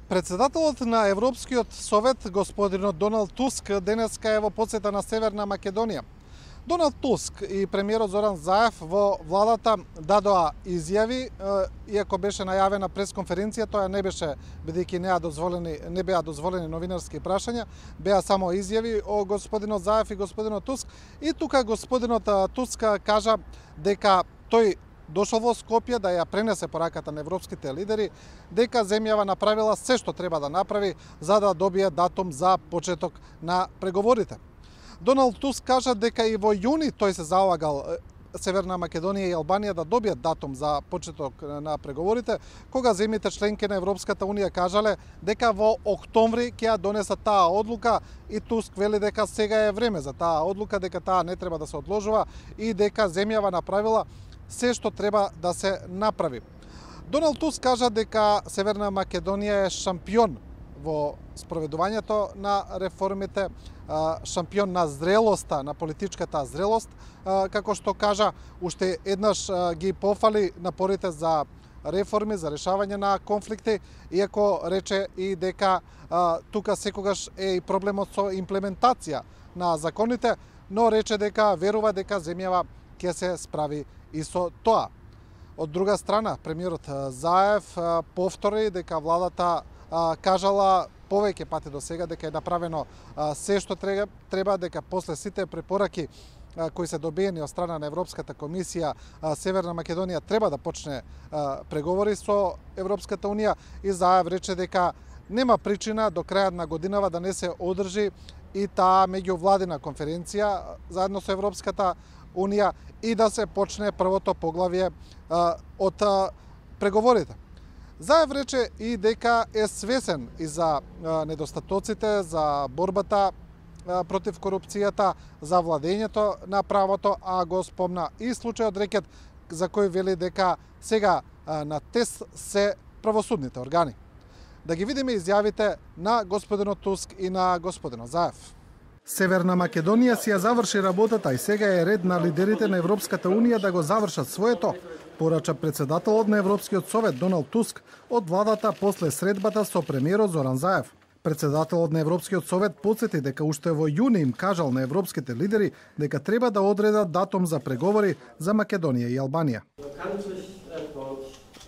Председателот на Европскиот совет, господинот Доналд Туск, денеска е во посета на Северна Македонија. Доналд Туск и премиерот Зоран Заев во владата дадоа изјави, иако беше најавена пресконференција, тоа не беше, бидејќи не беа дозволени новинарски прашања, беа само изјави о господинот Заев и господинот Туск. И тука господинот Туск кажа дека тој дошол во Скопје да ја пренесе пораката на европските лидери, дека земјава направила се што треба да направи за да добие датум за почеток на преговорите. Доналд Туск кажа дека и во јуни тој се залагал Северна Македонија и Албанија да добијат датум за почеток на преговорите, кога земјите членки на Европската унија кажале дека во октомври ќе ја донесат таа одлука и Туск вели дека сега е време за таа одлука, дека таа не треба да се одложува и дека земјава направила се што треба да се направи. Доналд Туск кажа дека Северна Македонија е шампион во спроведувањето на реформите, шампион на зрелоста, на политичката зрелост, како што кажа, уште еднаш ги пофали напорите за реформи, за решавање на конфликти, иако рече и дека тука секогаш е и проблемот со имплементација на законите, но рече дека верува дека земјава ќе се справи и со тоа. Од друга страна, премиерот Заев повтори дека владата кажала повеќе пати до сега дека е направено се што треба, дека после сите препораки кои се добиени од страна на Европската комисија, Северна Македонија треба да почне преговори со Европската унија и Заев рече дека нема причина до крајот на годинава да не се одржи и таа меѓувладина конференција заедно со Европската унија и да се почне првото поглавје од преговорите. Заев рече и дека е свесен и за недостатоците, за борбата против корупцијата, за владењето на правото, а го спомна и случајот рекет за кој вели дека сега на тест се правосудните органи. Да ги видиме изјавите на господинот Туск и на господинот Заев. Северна Македонија си ја заврши работата и сега е ред на лидерите на Европската унија да го завршат своето, порача председателот на Европскиот совет Доналд Туск од владата после средбата со премиерот Зоран Заев. Председателот на Европскиот совет потсети дека уште во јуни им кажал на европските лидери дека треба да одредат датум за преговори за Македонија и Албанија.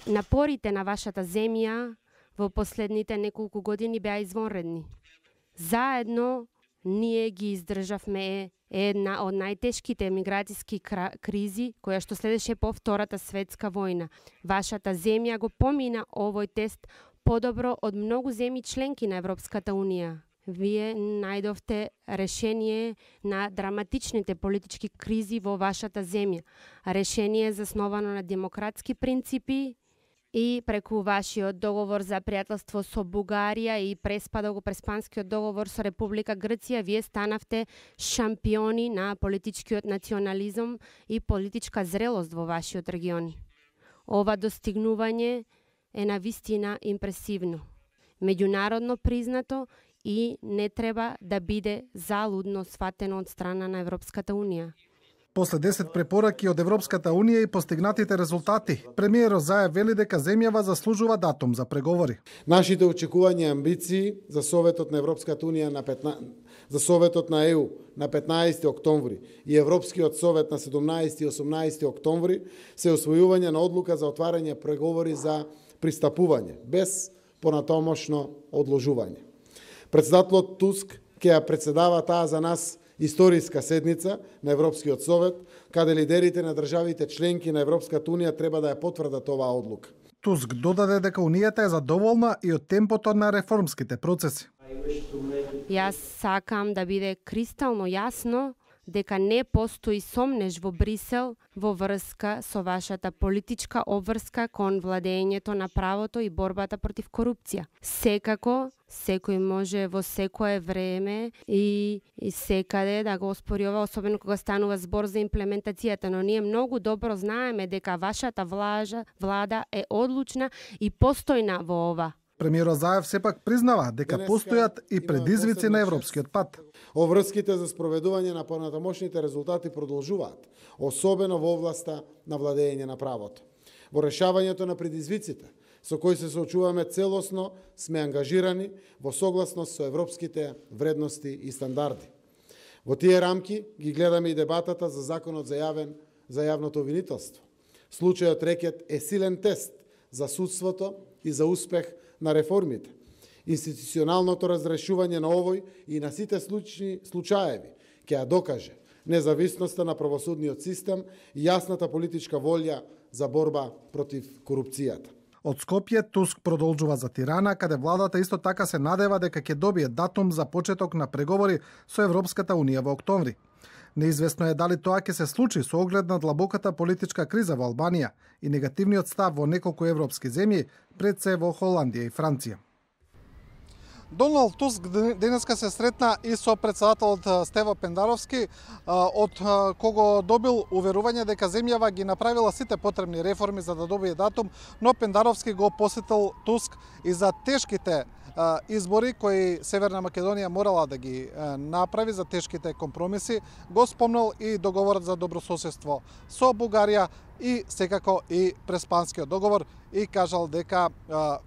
Напорите на вашата земја во последните неколку години беа извонредни. Заедно ние ги издржавме една од најтешките миграцијски кризи, која што следеше по Втората светска војна. Вашата земја го помина овој тест подобро од многу земји членки на Европската унија. Вие најдовте решение на драматичните политички кризи во вашата земја. Решение засновано на демократски принципи и преку вашиот договор за пријателство со Бугарија и преспанскиот договор со Република Грција, вие станавте шампиони на политичкиот национализам и политичка зрелост во вашиот регион. Ова достигнување е навистина импресивно, меѓународно признато и не треба да биде залудно сватено од страна на Европската унија. После 10 препораки од Европската унија и постигнатите резултати, премиерот Заев вели дека земјава заслужува датум за преговори. Нашите очекувања и амбиции за Советот на Европската унија за Советот на ЕУ на 15 октомври и Европскиот совет на 17 и 18 октомври се освојување на одлука за отварање преговори за пристапување без понатомошно одложување. Председателот Туск ќе ја председава таа за нас историска седница на Европскиот совет, каде лидерите на државите членки на Европската унија треба да ја потврдат оваа одлука. Туск додаде дека унијата е задоволна и од темпото на реформските процеси. Јас сакам да биде кристално јасно дека не постои сомнеж во Брисел во врска со вашата политичка обврска кон владењето на правото и борбата против корупција. Секако, секој може во секое време и секаде да го оспорува, особено кога станува збор за имплементацијата, но ние многу добро знаеме дека вашата влада е одлучна и постојна во ова. Премиерот Заев сепак признава дека постојат и предизвици на европскиот пат. Оврските за спроведување на понатамошните резултати продолжуваат, особено во областа на владење на правото. Во решавањето на предизвиците со кој се соочуваме целосно, сме ангажирани во согласност со европските вредности и стандарди. Во тие рамки ги гледаме и дебатата за законот за јавното обвинителство. Случајот Рекет е силен тест за судството и за успех на реформите. Институционалното разрешување на овој и на сите случаеви ќе ја докаже независноста на правосудниот систем и јасната политичка волја за борба против корупцијата. Од Скопје Туск продолжува за Тирана, каде владата исто така се надева дека ќе добие датум за почеток на преговори со Европската унија во октомври. Неизвестно е дали тоа ќе се случи со оглед на длабоката политичка криза во Албанија и негативниот став во неколку европски земји, пред се во Холандија и Франција. Доналд Туск денеска се сретна и со претседателот Стево Пендаровски, од кого добил уверување дека земјава ги направила сите потребни реформи за да добие датум, но Пендаровски го посетил Туск и за тешките избори кои Северна Македонија морала да ги направи, за тешките компромиси, го спомнал и договорот за добрососедство со Бугарија и секако и Преспанскиот договор и кажал дека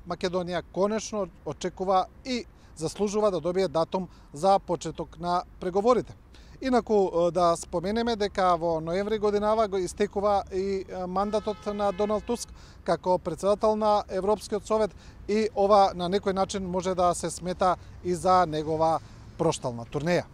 Македонија конечно очекува и заслужува да добие датум за почеток на преговорите. Инаку да споменеме дека во ноември годинава го истекува и мандатот на Доналд Туск како претседател на Европскиот совет и ова на некој начин може да се смета и за негова проштална турнеја.